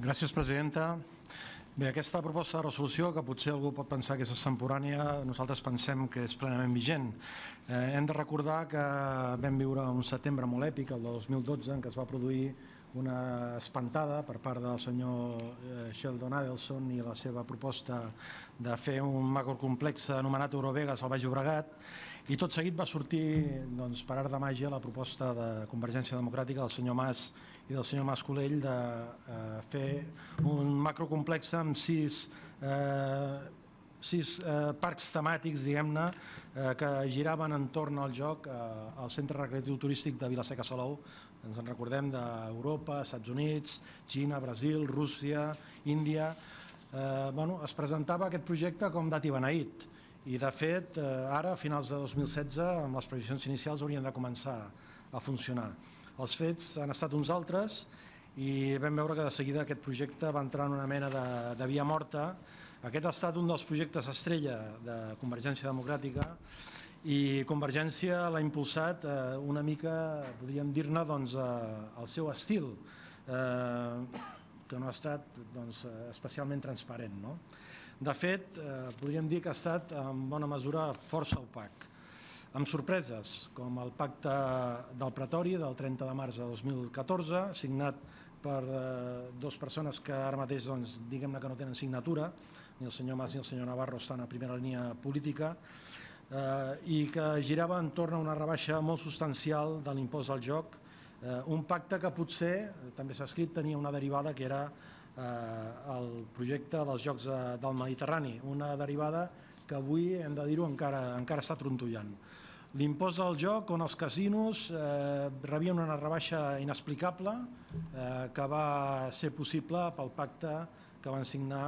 Gràcies, presidenta. Bé, aquesta proposta de resolució, que potser algú pot pensar que és extemporània, nosaltres pensem que és plenament vigent. Hem de recordar que vam viure un setembre molt èpic, el de 2012, en què es va produir una espantada per part del senyor Sheldon Adelson i la seva proposta de fer un macrocomplex anomenat Eurovegas al Baix Llobregat, i tot seguit va sortir, per art de màgia, la proposta de Convergència Democràtica del senyor Mas i del senyor Mas Colell de fer un macrocomplex amb sis parcs temàtics, diguem-ne, que giraven entorn al joc al centre recreatiu turístic de Vila-seca Salou. Ens en recordem d'Europa, Estats Units, Xina, Brasil, Rússia, Índia. Es presentava aquest projecte com dat i beneït i, de fet, ara, a finals de 2016, amb les previsions inicials, haurien de començar a funcionar. Els fets han estat uns altres i vam veure que de seguida aquest projecte va entrar en una mena de via morta. Aquest ha estat un dels projectes estrella de Convergència Democràtica i Convergència l'ha impulsat una mica, podríem dir-ne, al seu estil, que no ha estat especialment transparent. De fet, podríem dir que ha estat en bona mesura força opac, amb sorpreses, com el pacte del Pretori del 30 de març de 2014, signat per dues persones que ara mateix, diguem-ne que no tenen signatura, ni el senyor Mas ni el senyor Navarro estan a primera línia política, i que girava entorn a una rebaixa molt substancial de l'impost al joc, un pacte que potser, també s'ha escrit, tenia una derivada que era el projecte dels Jocs del Mediterrani, una derivada que avui, hem de dir-ho, encara està trontollant. L'impost al joc, on els casinos rebien una rebaixa inexplicable que va ser possible pel pacte que van signar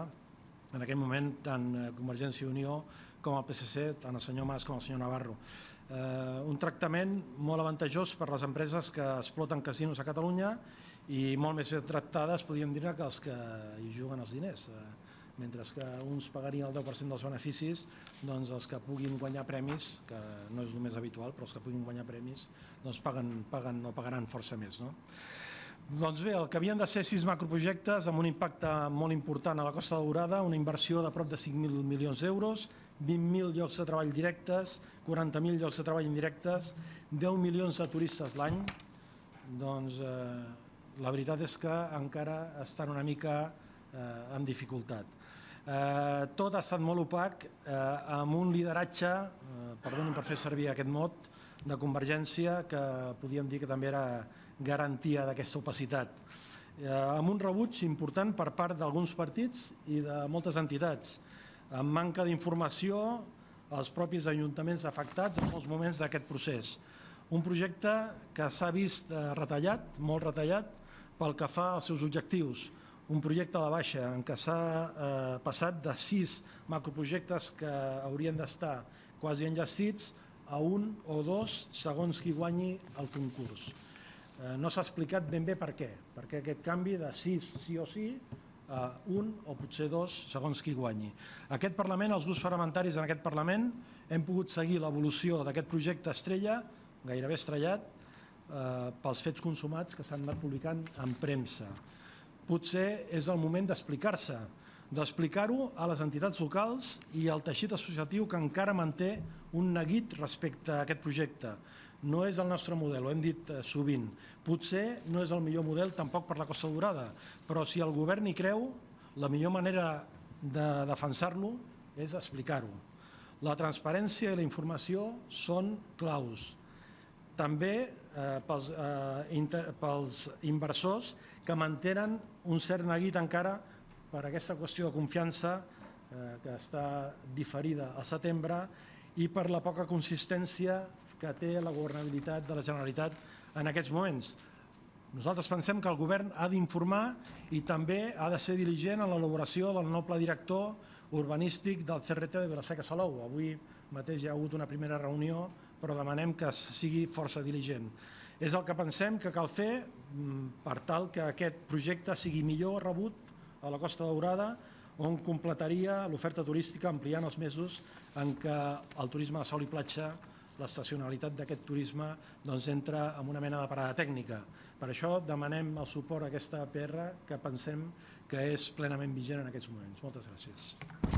en aquell moment tant Convergència i Unió com el PSC, tant el senyor Mas com el senyor Navarro. Un tractament molt avantajós per les empreses que exploten casinos a Catalunya i molt més ben tractades, podríem dir-ne, que els que hi juguen els diners. Mentre que uns pagarien el 10% dels beneficis, doncs els que puguin guanyar premis, que no és el més habitual, però els que puguin guanyar premis pagaran força més. Doncs bé, el que havien de ser 6 macroprojectes amb un impacte molt important a la Costa Daurada, una inversió de prop de 5.000 milions d'euros, 20.000 llocs de treball directes, 40.000 llocs de treball indirectes, 10 milions de turistes l'any, doncs la veritat és que encara estan una mica amb dificultat. Tot ha estat molt opac, amb un lideratge, perdonin per fer servir aquest mot, de Convergència, que podíem dir que també era garantia d'aquesta opacitat, amb un rebuig important per part d'alguns partits i de moltes entitats, amb manca d'informació als propis ajuntaments afectats en molts moments d'aquest procés. Un projecte que s'ha vist retallat, molt retallat, pel que fa als seus objectius. Un projecte a la baixa en què s'ha passat de 6 macroprojectes que haurien d'estar quasi enllestits a 1 o 2 segons qui guanyi el concurs. No s'ha explicat ben bé per què aquest canvi de 6 sí o sí a 1 o potser 2 segons qui guanyi. Aquest Parlament, els grups parlamentaris en aquest Parlament, hem pogut seguir l'evolució d'aquest projecte estrella, gairebé estrellat, pels fets consumats que s'han anat publicant en premsa. Potser és el moment d'explicar-se, d'explicar-ho a les entitats locals i al teixit associatiu que encara manté un neguit respecte a aquest projecte. No és el nostre model, ho hem dit sovint. Potser no és el millor model tampoc per la Costa Daurada, però si el govern hi creu, la millor manera de defensar-lo és explicar-ho. La transparència i la informació són claus. També pels inversors que mantenen un cert neguit encara per aquesta qüestió de confiança que està diferida al setembre i per la poca consistència que té la governabilitat de la Generalitat en aquests moments. Nosaltres pensem que el govern ha d'informar i també ha de ser diligent en l'elaboració del nou pla director urbanístic del CRT de Vila-seca Salou. Avui mateix hi ha hagut una primera reunió, però demanem que sigui força diligent. És el que pensem que cal fer per tal que aquest projecte sigui millor rebut a la Costa Daurada, on completaria l'oferta turística ampliant els mesos en què el turisme de sol i platja l'estacionalitat d'aquest turisme entra en una mena de parada tècnica. Per això demanem el suport a aquesta APR que pensem que és plenament vigent en aquests moments. Moltes gràcies.